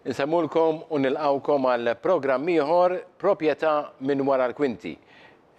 Insemmulkom u nilqgħukom għal programm ieħor Proprjetà minn wara l-kwinti.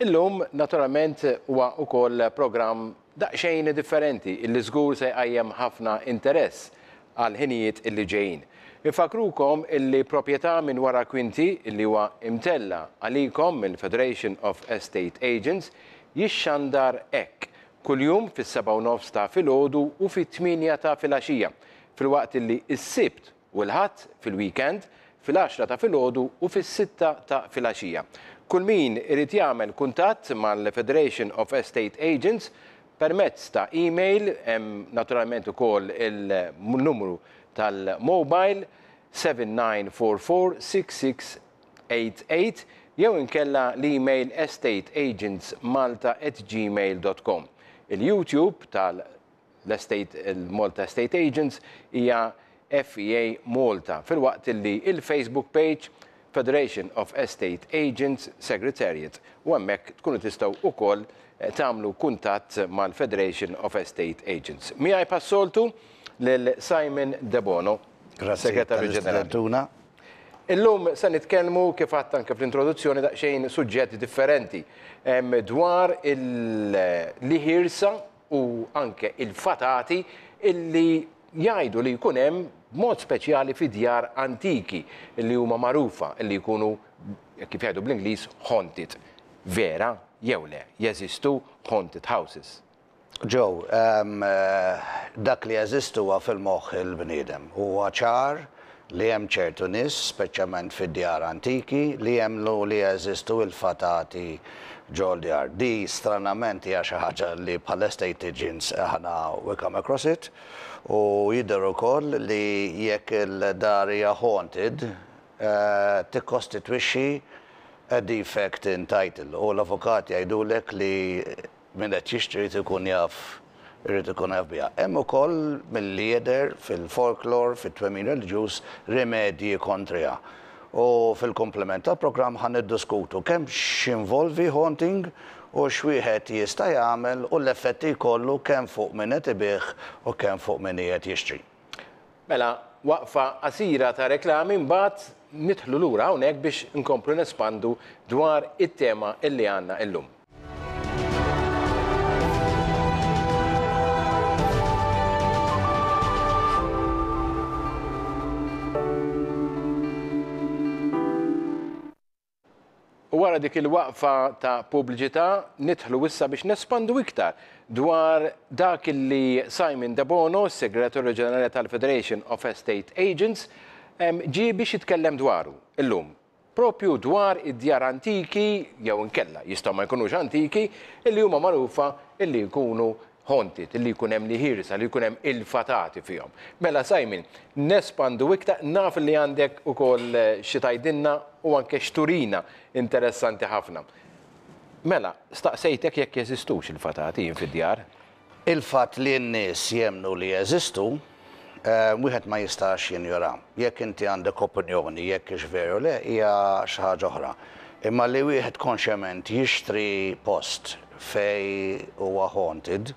Illum naturalment huwa wkoll programm daqsxejn differenti illi żgur se jqajjem ħafna interess għal ħinijiet illi ġejjin. Infakkrukom illi Proprjetà minn wara l-kwinti illi huwa imtella' għalikom mill-Federation of Estate Agents jixxandar hekk kuljum fis-sebgħa u nofs ta' filgħodu u fit-tmienja ta' filgħaxija filwaqt illi s-Sibt u l-Ħadd fil-weekend fil-għaxra ta' filgħodu u fis-sitta ta' filgħaxija. Kull min irid jagħmel kuntatt mal-Federation of Estate Agents permezz ta' email, hemm naturalment ukoll il-numru tal-mobile 7944 6688 jew inkella l-email estateagentsmalta@gmail.com. Il-YouTube tal L-Estate, il-Malta Estate Agents hija FEA Malta, filwaqt li il-Facebook page Federation of Estate Agents Secretariat u hemmhekk tkunu tistgħu wkoll tagħmlu kuntatt mal-Federation of Estate Agents. Miegħi bħas-soltu lil Simon Debono, Segretarju Ġenerali. Illum se nitkellmu kif għadt anke fl-introduzzjoni daqsxejn suġġett differenti dwar il-ħirsa u anke il-fatati illi jgħidu li jkun hemm b'mod speċjali fi djar antiki illi huma magħrufa illi jkunu kif jgħidu bl-Ingliż haunted. Vera jew le jeżistu haunted houses? Joe, dak li jeżisti huwa fil-moħħ il-bniedem. Huwa ċar li hemm ċertu nies, speċjalment fid-djar antiki, li jemmnu li jeżistu il-fatati ġol-djar. Di stranament hija xi ħaġa li bħala estate agents aħna we come across it u jidher ukoll li jekk il-dar hija haunted tikkostitwixxi a defect in title u l-avukat jgħidulek li Min qed jixtri jrid ikun jaf irid ikun jaf biha. Hemm ukoll milli jidher fil-folklore, fit-twemmin reliġjuż, rimedji kontriha. U fil-komplement tal-programm ħa niddiskutu kemm x'jinvolvi haunting u x'wieħed jista' jagħmel u l-effetti jkollu kemm fuq min qed ibigħ u kemm fuq min qiegħed jixtri. Mela, waqfa qasira ta' reklami mbagħad nidħlu lura hawnhekk biex inkomplu nespandu dwar it-tema illi għandna illum. U wara dik il-waqfa ta' pubbliċità nidħlu issa biex nespandu iktar dwar dak li Simon Debono, Segretarju Ġenerali tal-Federation of Estate Agents, ġie biex jitkellem dwaru illum. Propju dwar id-djar antiki jew inkella jistgħu ma jkunux antiki illi huma magħrufa illi jkunu haunted, illi jkun hemm l-ħirsa, li jkun hemm il-fatati fihom. Mela Simon, nespandu iktar, naf li għandek ukoll xi tgħidilna u anke x'turina interessanti ħafna. Mela, staqsejtek jekk jeżistux il-fatati jien fid-djar. Il-fatt li n-nies jemmnu li jeżistu, wieħed ma jistax jinjora. Jekk inti għandek opinjoni jekk hix veru jew le hija xi ħaġa oħra. Imma li wieħed konxjament jixtri post fejn huwa haunted,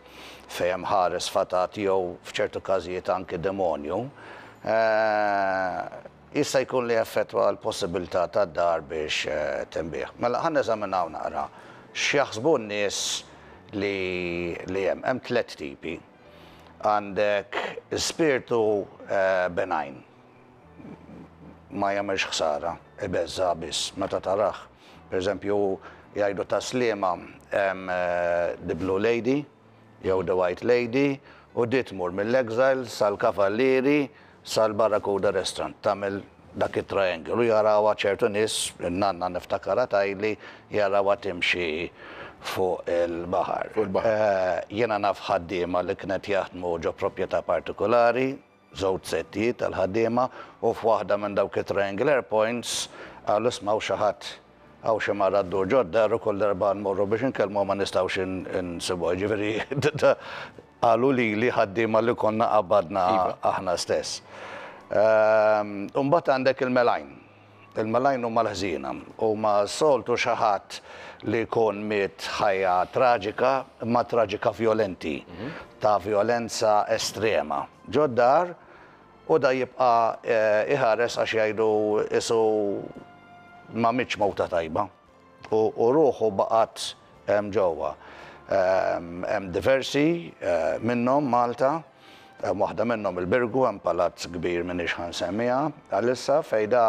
fejn hemm ħares fatat jew f'ċertu każijiet anki demonju, jista' jkun li jaffettwa l-possibilità tad-dar biex tinbiegħ. Mela ħa neżaminaw naqra x'jaħsbu n-nies li li hemm. Hemm tlett tipi. Għandek spirtu benign. Ma jagħmilx ħsara, ibeżża' biss meta tarah. Per eżempju, jgħidu ta' Sliema hemm The Blue Lady jew The White Lady u di tmur mill-Exile sal-Kavallieri sal-Barracuda Restaurant, tagħmel dak it-triangle u jarawha ċertu nies, in-nanna niftakarha tgħidli, jarawha timxi fuq il-baħar. Fuq il-baħar. Jiena naf ħaddiema li kienet jaħdmu ġo proprjetà partikulari, żewġ settijiet tal-ħaddiema u f'waħda minn dawk it-triangular points qalu isma' hawn xi ħadd, hawn xi mara ddur ġod-dar u kull darba nmorru biex inkellmuha ma nistgħux insibuha. Jiġifieri qalu lili ħaddiema li konna qabadna aħna stess. U mbagħad għandek il-melajn. Il-melajn huma l-ħżiena. Huma s-soltu xi ħadd li jkun miet ħajja traġika, imma traġika vjolenti, ta' vjolenza estrema. Ġod-dar. U da jibqa' iħares għax jgħidu qisu ma mietx mewta tajba. U ruħu baqgħet hemm ġewwa. Hemm diversi minnhom Malta, hemm waħda minnhom il-Birgu, hemm palazz kbir m'iniex ħa nsemmiha għalissa fejn da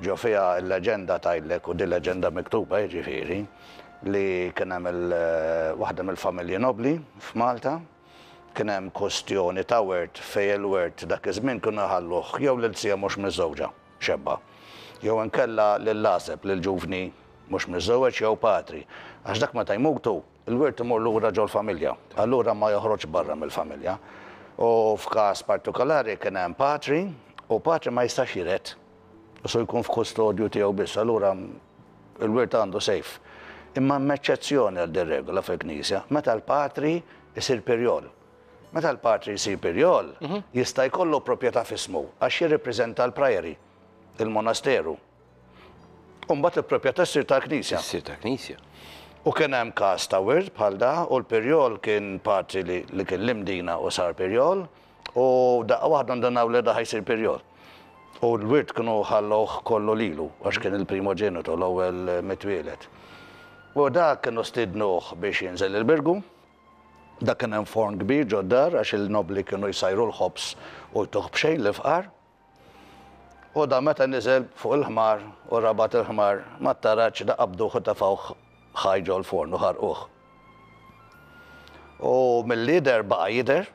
ġo fiha l-leġenda tgħidlek, u din leġenda miktuba jiġifieri, li kien hemm waħda mill-familji nobbli f'Malta, kien hemm kwestjoni ta' wirt fejn il-wirt dak iż-żmien kienu jħalluh jew lil zija mhux miżżewġa, xebba, jew inkella lill-għażeb, lill-ġuvni mhux miżżewweġ jew patri, għax dak meta jmutu, il-wirt imur lura ġol-familja, allura ma joħroġx barra mill-familja. U f'każ partikolari kien hemm patri, u patri ma jistax jiret, u jkun f'kustodju tiegħu biss, allura il-wirt għandu safe. Imma hemm eċċezzjoni għal din regola fil-Knisja, meta l-patri jsir pirjol. Meta l-patri jsir pirjol, jista' jkollu proprjetà f'ismu għax jirrippreżenta l-priory, il-monasteru. U mbagħad il-proprjetà ssir tal-Knisja. Issir tal-Knisja. U kien hemm każ ta' wirt bħal da u l-pirjol kien patri li kien l-Imdina u sar pirjol u daqqa waħda ndunaw li da ħa jsir pirjol. U l-wirt kienu ħallewh kollu lilu għax kien il-primoġenitu, l-ewwel mitwieled. U dak kienu stiednuh biex jinżel il-Birgu. Dak kien hemm forn kbir ġod-dar għax il-nobbli kienu jsajru l-ħobż u jtuh b'xejn lill-fqar. U da meta niżel fuq il-ħmar u rabat il-ħmar mat-taraġ da qabduh u tefgħuh ħaj ġol-forn u ħarquh. U milli jidher baqa' jidher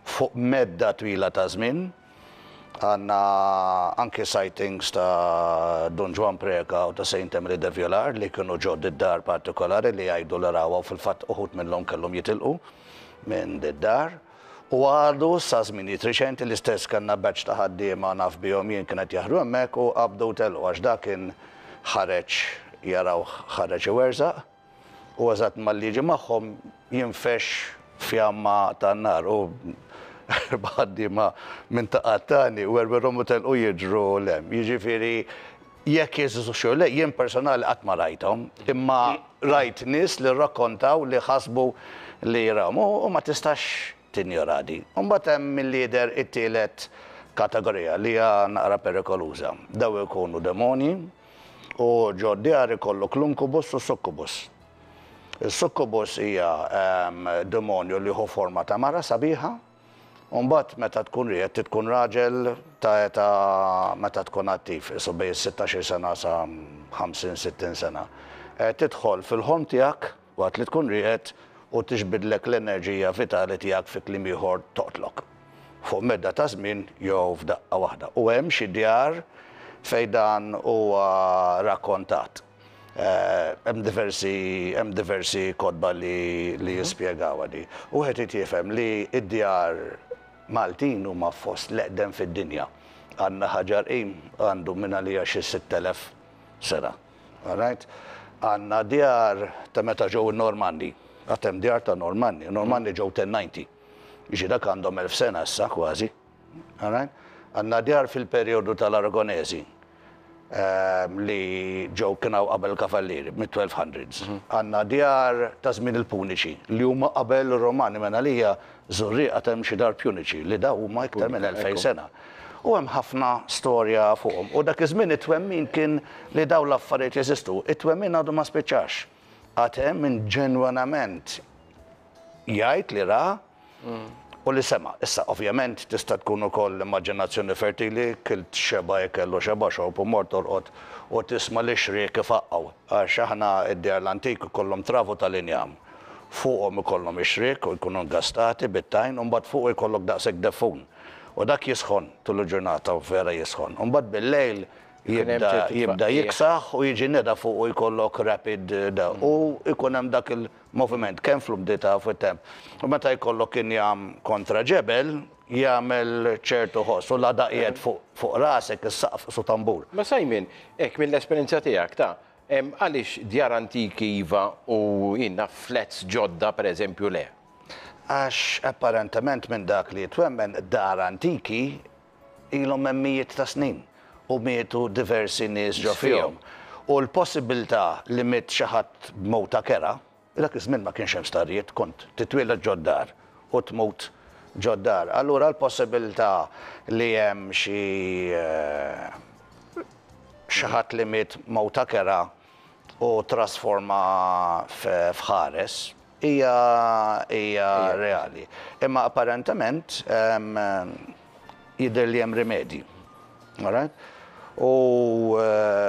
fuq medda twila ta' żmien. Għandna anki sightings ta' Dun Ġwann Preca u ta' Saint Emily de Violar li kienu ġo did-dar partikolari li jgħidu li rawha u fil-fatt uħud minnhom kellhom jitilqu minn did-dar. U għadu sa żminijiet riċenti l-istess kellna batch ta' ħaddiema naf bihom jien kien qed jaħdmu hemmhekk u qabdu u telqu għax dak kien ħareġ jarawh ħareġ iwerżaq u eżatt malli jiġi magħhom jinfexx fjamma tan-nar u ħaddiema minn ta' qattani werwirhom u telqu jiġru 'l hemm. Jiġifieri jekk jeżistux jew le, jien personali qatt ma rajthom, imma rajt nies li rrakkontaw li ħasbu li rawhom u ma tistax tinjora di. U mbagħad hemm milli jidher it-tielet kategorija li hija naqra perikoluża. Dawn ikunu demonji u ġo d-djar ikollok l-inkubus u s-sukkubus. Is-sukkubus hija demonju li jieħu forma ta' mara sabiħa U mbagħad meta tkun ried trid tkun raġel ta' età meta tkun attiv, qisu bejn is-sittax-il sena sa 50, 60 sena. Tidħol fil-ħolm tiegħek waqt li tkun rieqed u tiġbidlek l-enerġija vitali tiegħek fi kliem ieħor toqtlok. Fuq medda ta' żmien jew f'daqqa waħda. U hemm xi djar fejn dan huwa rakkontat. Hemm diversi hemm diversi kotba li li jispjegawha di. U wieħed irid jifhem li d-djar Maltin huma fost l-eqdem fid-dinja. Għandna ħaġar qim għandu minn għalija xi 6,000 sena. All right? Għandna djar ta' meta ġew in-Normanni. Għad hemm djar ta' Normanni. Normanni ġew 1090. Jiġi dak għandhom 1000 sena issa kważi. All right? Għandna djar fil-perjodu tal-Aragonesi li ġew kien hawn qabel il-Kavallieri, mid-1200s. Għandna djar ta' żmien il-Puniċi li huma qabel ir-Romani, minn għalija Żurrieq għad hemm xi dar Puniċi li dawn huma iktar minn 2000 sena. U hemm ħafna storja fuqhom. U dak iż-żmien it-twemmin kien li dawn l-affarijiet jeżistu. It-twemmin għadu ma spiċċax. Għad hemm min ġenwinament jgħid li ra u li sema'. Issa, ovvjament, tista' tkun ukoll l-immaġinazzjoni fertili, kilt xebgħa ikel u xebgħa xorb u mort torqod u tisma' l-ixriek ifaqqgħu. Għax aħna d-djar l-antik ikollhom travu tal-injam. Fuqhom ikollhom ixriek u jkunu ngastati bit-tajn u mbagħad fuqu jkollok daqshekk deffun. U dak jisħon tul il-ġurnata u vera jisħon. U mbagħad bil-lejl jibda jibda jiksaħ u jiġi nida fuqu jkollok rapid da u jkun hemm dak il moviment kemm fl-umdità u fit-temp. U meta jkollok injam kontra ġebel, jagħmel ċertu ħoss u la daqqiet fuq rasek is-saqaf qisu tambur. Ma Simon, hekk mill-esperjenza tiegħek ta', għaliex djar antiki iva u jien naf flats ġodda pereżempju le? Għax apparentement minn dak li jitwemmen dar antiki ilhom hemm mijiet ta' snin u mietu diversi nies ġo fihom. U l-possibbiltà li miet xi ħadd b'mewta kerha, dak iż-żmien ma kienx hemm starijiet, kont titwieled ġod-dar u tmut. ġod-dar. Allura l-possibilità li hemm xi xi ħadd li miet mewta kerha u ttrasforma f'ħares hija hija reali. Imma apparentement jidher li hemm rimedji. All right? U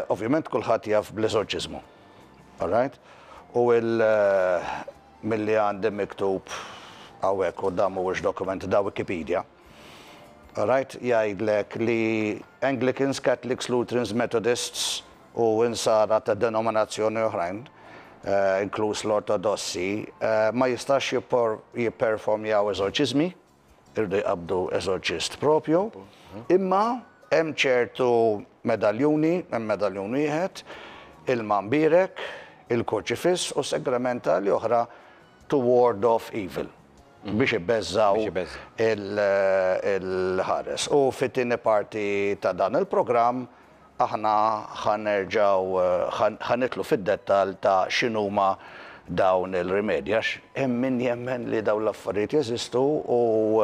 ovvjament kulħadd jaf bl-eżorċiżmu. All right? U il milli għandi miktub hawnhekk u dan mhuwiex dokument da Wikipedia. All right? Jgħidlek li Anglicans, Catholics, Lutherans, Methodists u insara ta' denominazzjoni oħrajn, inkluż l-Ortodossi, ma jistax jipperformjaw eżorċiżmi, iridu jqabbdu eżorċist propju, imma hemm ċertu medaljuni, hemm medaljun wieħed, ilma mbierek, il-kurċifiss u sagramentali oħra to ward off evil, biex ibeżżgħu il-ħares. U fit-tieni parti ta' dan il-programm Aħna ħa nerġgħu ħa nidħlu fid-dettall ta' x'inhuma dawn il-rimedji għax hemm min jemmen li dawn l-affarijiet jeżistu u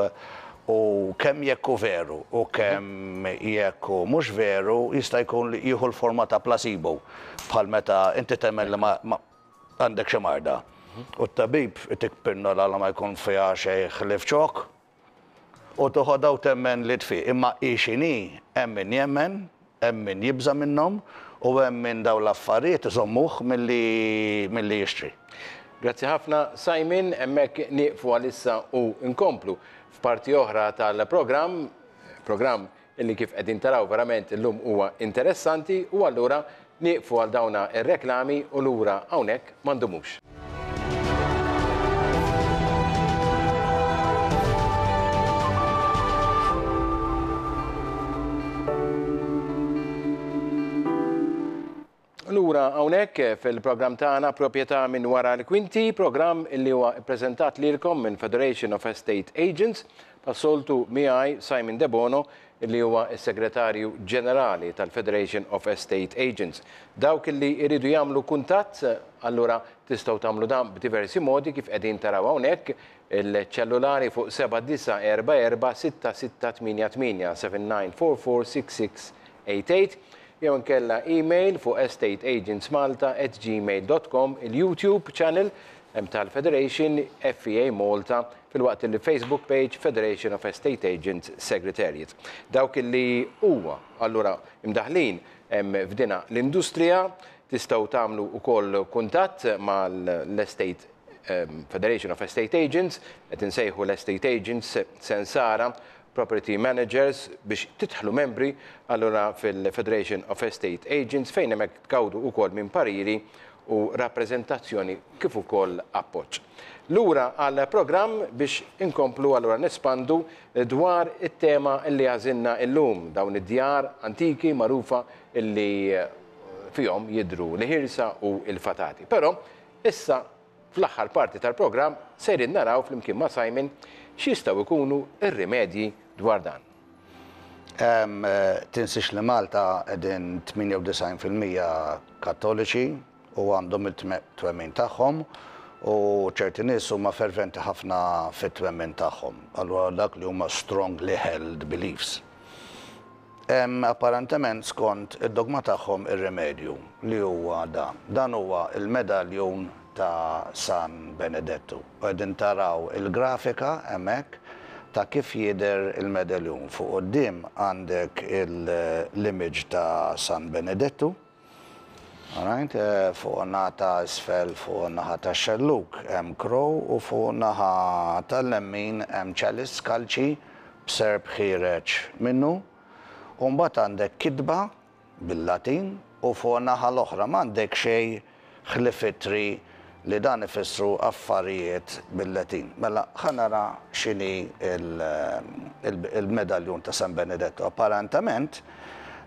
u kemm jekk hu veru u kemm jekk hu mhux veru jista' jkun li jieħu l-forma ta' placebo bħal meta inti temmen li ma għandek xi marda u t-tabib itik pinnola li ma jkun fiha xejn ħlief ċokk. U toħodha u temmen li tfiq. Imma hi x'inhi, hemm min jemmen, hemm min jibża' minnhom u hemm min dawn l-affarijiet iżommuh milli milli jixtri. Grazzi ħafna Simon, hemmhekk nieqfu għalissa u nkomplu f'parti oħra tal-programm, programm illi kif qegħdin taraw verament illum huwa interessanti u allura nieqfu għal dawna r-reklami u lura hawnhekk ma ndumux. Lura hawnhekk fil-programm tagħna Proprjetà minn wara l-kwinti, programm illi huwa ppreżentat lilkom minn Federation of Estate Agents, bħas-soltu miegħi Simon Debono illi huwa s-Segretarju Ġenerali tal-Federation of Estate Agents. Dawk illi jridu jagħmlu kuntatt, allura tistgħu tagħmlu dan b'diversi modi kif qegħdin taraw hawnhekk, il-ċellulari fuq 7944 6688, 7944 6688, jew inkella email fuq estateagentsmalta@gmail.com, il-YouTube channel tal-Federation, FEA Malta, filwaqt li Facebook page Federation of Estate Agents Secretariat. Dawk li huwa allura imdaħħlin f'dina l-industrija tistgħu tagħmlu wkoll kuntatt mal-Estate Federation of Estate Agents, qed insejħu l-Estate Agents Sensara, Property Managers biex tidħlu membri allura fil-Federation of Estate Agents fejn hemmhekk tgawdu wkoll minn pariri u rappreżentazzjoni kif ukoll appoġġ. Lura għall-programm biex inkomplu allura nespandu dwar it-tema li għażilna illum, dawn id-djar antiki magħrufa li fihom jidhru l-ħirsa u l-fatati. Però issa Fl-aħħar parti tal-programm sejrin naraw flimkien ma' Simon x'jistgħu jkunu r-rimedji dwar dan. Tinsiex li Malta qegħdin 98% Kattoliċi u għandhom it-twemmin tagħhom u ċerti nies huma ferventi ħafna fit-twemmin tagħhom. Allura dak li huma strongly held beliefs. Hemm apparentement skont id-dogma tagħhom ir-rimedju, li huwa dan. Dan huwa l-medaljun ta' San Benedettu. U qegħdin taraw il-grafika hemmhekk ta' kif jidher il-medaljun. Fuq quddiem għandek l-image ta' San Benedettu. Alright, fuq in-naħa ta' isfel fuq in-naħa tax-xellug hemm crow u fuq in-naħa tal-lemmin hemm chalice, kalċi, b'serp ħiereġ minnu. U mbagħad għandek kitba bil-Latin u fuq in-naħa l-oħra m'għandek xejn ħlief ittri li dan ifissru affarijiet bil-Latin. Mela ħa nara x'inhi l-medaljun ta' San Benedetto. Apparentament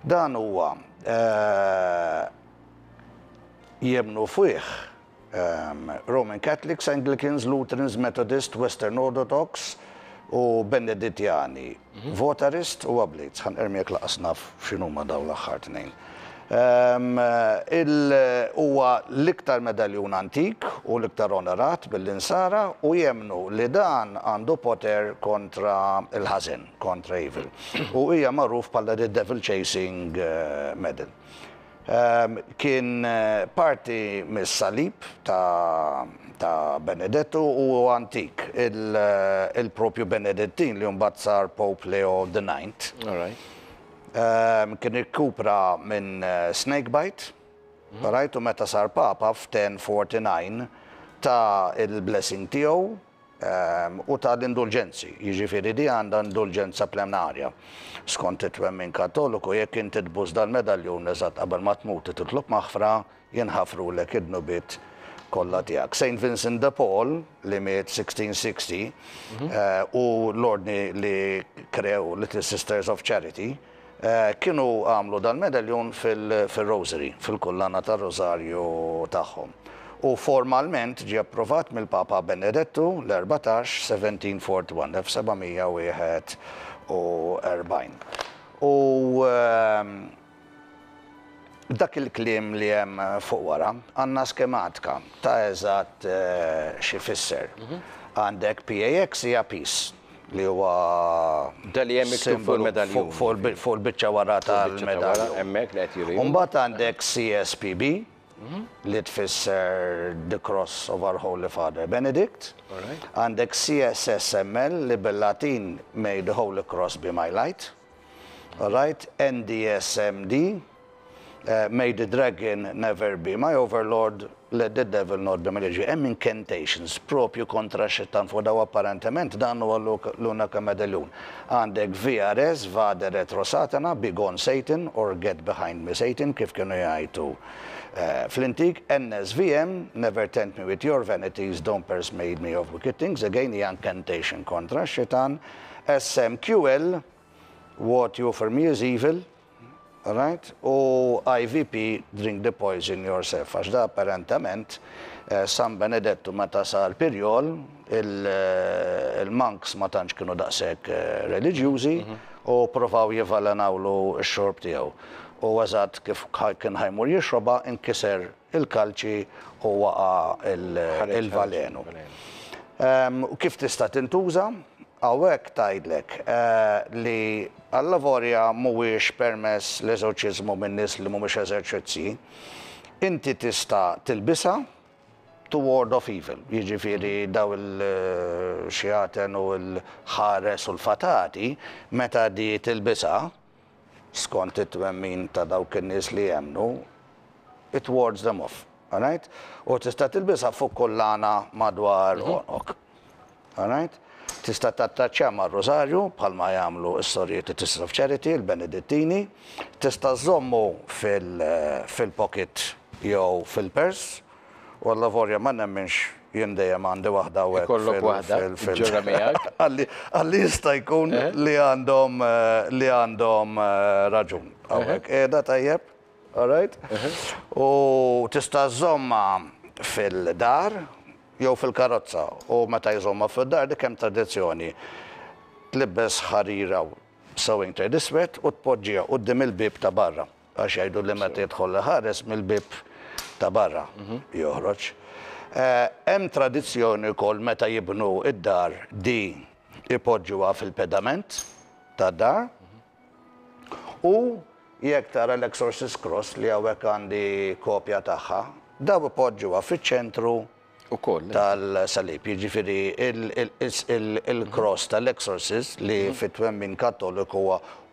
dan huwa jemmnu fih Roman Catholics, Anglicans, Lutherans, Methodist, Western Orthodox u Benedittjani, Votarist u Oblates. Ħa nqermi jekk lanqas naf x'inhuma dawn l-aħħar tnejn. Huwa l-iktar medaljun antik u l-iktar onorat mill-Insara u jemmnu li dan għandu poter kontra l-ħażen, kontra evil. U hija magħruf bħala the devil chasing medal. Kien parti mis-salib ta' Benedettu u huwa antik. Il-propju Benedettin li mbagħad sar Pope Leo the Ninth. Kien irkupra minn snake bite, right, u meta sar Papa f'1049 ta l-blessing tiegħu u ta l-indulġenzi, jiġifieri di għandha indulġenza plenarja. Skont it-twemmin Kattoliku jekk inti tbus dal-medaljun eżatt qabel ma tmut u titlob maħfra, jinħafrulek id-dnubiet kollha tiegħek. Saint Vincent de Paul, li miet 1660, u l-ordni li krew Little Sisters of Charity, kienu għamlu dal-medaljun fil-rosary, fil-kullana tar-rożarju tagħhom. U formalment ġie approvat mill-Papa Benedettu l-14, 1741, 1741. U Dak il-kliem li hemm fuq wara, għandna skematika ta' eżatt x'ifisser. Għandek PAX hija peace, li huwa Da li hemm miktub fuq il-medaljun. Fuq il-biċċa wara tal-medaljun. Hemmhekk li qed juri. U mbagħad għandek CSPB, li tfisser The Cross of Our Holy Father Benedict. Għandek CSSML li bil-Latin May the Holy Cross be my light. Alright, NDSMD, May the dragon never be my overlord, let the devil not be my leader. Hemm incantations propju kontra x-xitan fuq daw apparentement dan huwa l-unika medaljun. Għandek VRS, Vade Retro Satana, Be Gone Satan or Get Behind Me Satan kif kienu jgħidu fl-intik. NSVM, Never tempt me with your vanities, don't persuade me of wicked things, again hija incantation kontra x-xitan. SMQL, What you offer me is evil, right? U IVP, drink the poison yourself, għax da apparentament San Benedettu meta sar pirjol, il-monks ma tantx kienu daqshekk reliġjużi u provaw jivalenawlu x-xorb tiegħu. U eżatt kif kien ħa jmur jixrobha inkiser il-kalċi u waqa' il-valenu. U kif tista' tintuża? Hawnhekk tgħidlek li allavolja mhuwiex permess l-eżorċiżmu minn nies li mhumiex eżerċizzi, inti tista' tilbisha to ward off evil, jiġifieri daw il-xjaten u l-ħares u l-fatati, meta di tilbisha, skont it-twemmin ta' dawk in-nies li jemmnu, it wards them off. Alright? U tista' tilbisha fuq kullana madwar għonqok. Alright? Tista' tattaċċja mar-rużarju bħalma jagħmlu s-sorijiet Sisters of Charity, il-Benedittini. Tista' żżommu fil-pocket jew fil-purse. U allavolja ma nemminx jien dejjem għandi waħda hawnhekk. Ikollok waħda, ġġorrha miegħek. Għalli jista' jkun li għandhom li għandhom raġun. Hawnhekk qiegħda tajjeb? All right? U tista' żżommha fil-dar jew fil-karozza. U meta jżommha fid-dar dik hemm tradizzjoni. Tlibbes ħarira sewing thread iswed u tpoġġiha quddiem il-bieb ta' barra. Għax jgħidu li meta jidħol l-ħares mill-bieb ta' barra joħroġ. Hemm tradizzjoni wkoll meta jibnu d-dar di jpoġġuha fil-pedament tad-dar u jekk tara l-Exorcist Cross li hawnhekk għandi kopja tagħha, daw ipoġġuha fiċ-ċentru tal-salib, jiġifieri il-cross tal-Exorcist li fit-twemmin Kattoliku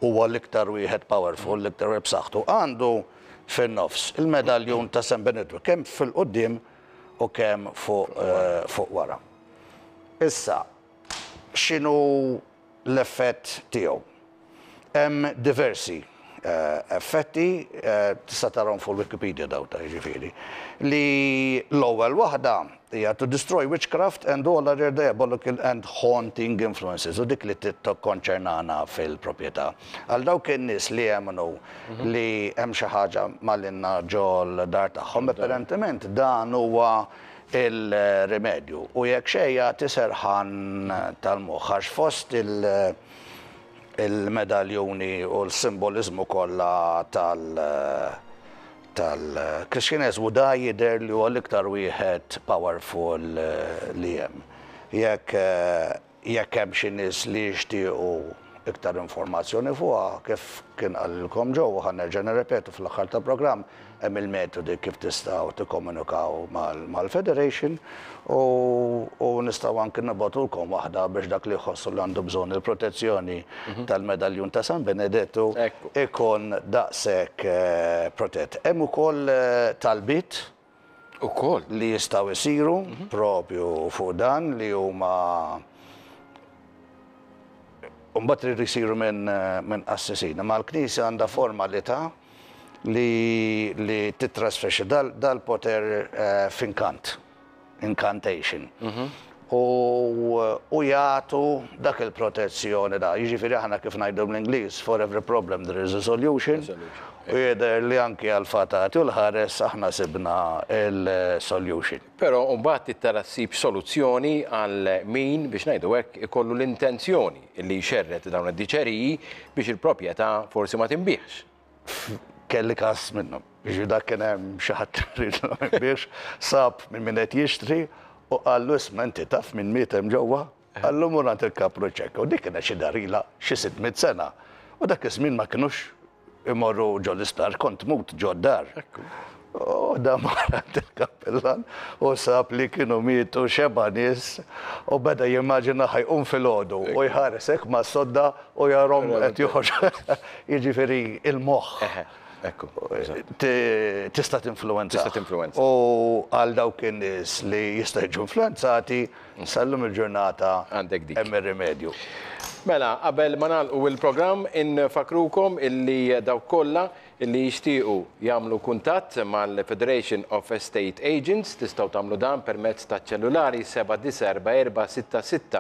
huwa l-iktar wieħed powerful, l-iktar wieħed b'saħħtu, għandu fin-nofs il-medaljun ta' San Benedettu kemm fil-quddiem u kemm fuq wara. Issa, x'inhu l-effett tiegħu? Hemm diversi effetti, tista' tarahom fuq il-Wikipedia dawn ta' jiġifieri, li l-ewwel waħda hija to destroy witchcraft and all other diabolical and haunting influences u dik li tikkonċernana fil-proprjetà. Għal dawk in-nies li jemmnu li hemm xi ħaġa malinna ġol-dar tagħhom, apparentement dan huwa il-rimedju u jekk xejn jagħti serħan tal-moħħ għax fost il- il-medaljuni u l-simboliżmu kollha tal tal-Kristjaneżmu da jidher li huwa l-iktar wieħed powerful li hemm. Jekk jekk hemm xi nies li jixtiequ iktar informazzjoni fuqha, kif kien qalilkom Joe u ħa nerġa' nirrepetu fl-aħħar tal-programm, hemm il-metodi kif tistgħu tikkomunikaw mal-Federation u u nistgħu anki nibgħatulkom waħda biex dak li jħossu li għandu bżonn il-protezzjoni tal-medaljun ta' San Benedettu ikun daqshekk protett. Hemm ukoll talbiet Ukoll. Li jistgħu jsiru propju fuq dan li huma mbagħad iridu jsiru minn min qassisin. Imma l-Knisja għandha formalità li li titrasferixxi dal-poter f'inkant, incantation. U u jagħtu dak il-protezzjoni da. Jiġifieri aħna kif ngħidu bl-Ingliż, for every problem there is a solution. U jidher li anki għall-fatati u l-ħares aħna sibna l-solution. Però mbagħad trid tara ssib soluzzjoni għal min, biex ngħidu hekk, ikollu l-intenzjoni li jxerred dawn id-diċeriji biex il-proprjetà forsi ma tinbiegħx. Kelli każ minnhom. Jiġifieri dak kien hemm xi ħadd li ried li ma jinbiegħx, sab minn min qed jixtri u qallu isma' inti taf min miet hemm ġewwa? Qallu mur għand il-kapru ċekka. U dik kienet xi dar ilha xi 600 sena. U dak iż-żmien ma kinux imorru ġo l-isptar, kont tmut ġo d-dar. U da mar għand il-kappillan u sab li kienu mietu xeba' nies u beda jimmaġina ħa jqum filgħodu u jħares hekk mas-sodda u jarahom qed joħorġu. Jiġifieri il-moħħ. Ekku. Tista' tinfluwenza. Tista' tinfluwenza. U għal dawk in-nies li jista' jiġu influwenzati, sal-lum il-ġurnata Għandek dik. Hemm ir-rimedju. Mela, qabel ma nagħlqu il-programm, infakkrukom illi dawk kollha illi jixtiequ jagħmlu kuntatt mal-Federation of Estate Agents tistgħu tagħmlu dan permezz taċ-ċellulari 7944 66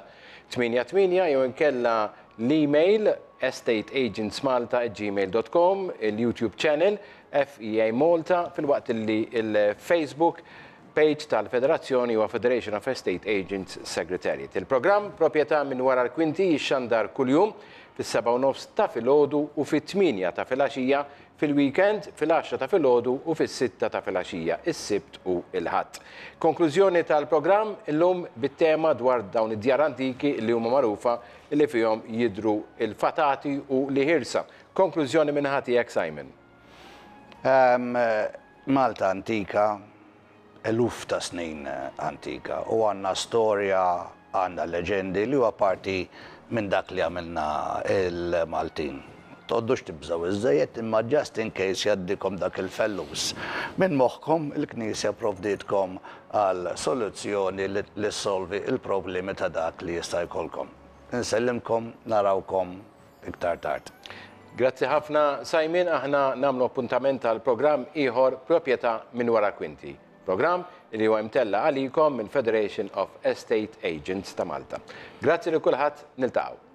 88 jew inkella l-email estateagentsmalta@gmail.com, il-YouTube channel FEA Malta filwaqt illi l-Facebook page tal-Federazzjoni huwa Federation of Estate Agents Secretariat. Il-programm Proprjetà minn wara l-kwinti jixxandar kuljum fis-7:30 ta' filgħodu u fit-8 ta' filgħaxija, fil-weekend fil-għaxra ta' filgħodu u fis-sitta ta' filgħaxija, is-Sibt u l-Ħadd. Konklużjoni tal-programm illum bit-tema dwar dawn id-djar antiki li huma magħrufa li fihom jidhru l-fatati u l-iħirsa. Konklużjoni min-naħa tiegħek Simon. Malta antika, eluf ta' snin antika u għandna storja, għandna leġendi li huwa parti minn dak li għamilna l-Maltin. Toqgħodux tibżgħu iżżejjed imma just in case jgħaddikom dak il-fellus minn moħħkom, il-Knisja pprovdietkom għal soluzzjoni li ssolvi l-problemi ta' dak li jista' jkollkom. Insellimkom, narawkom iktar tard. Grazzi ħafna Simon, aħna nagħmlu appuntament għal programm ieħor Proprjetà minn wara l-kwinti. Programm li huwa imtella' għalikom mill-Federation of Estate Agents ta' Malta. Grazzi lil kulħadd, niltaqgħu.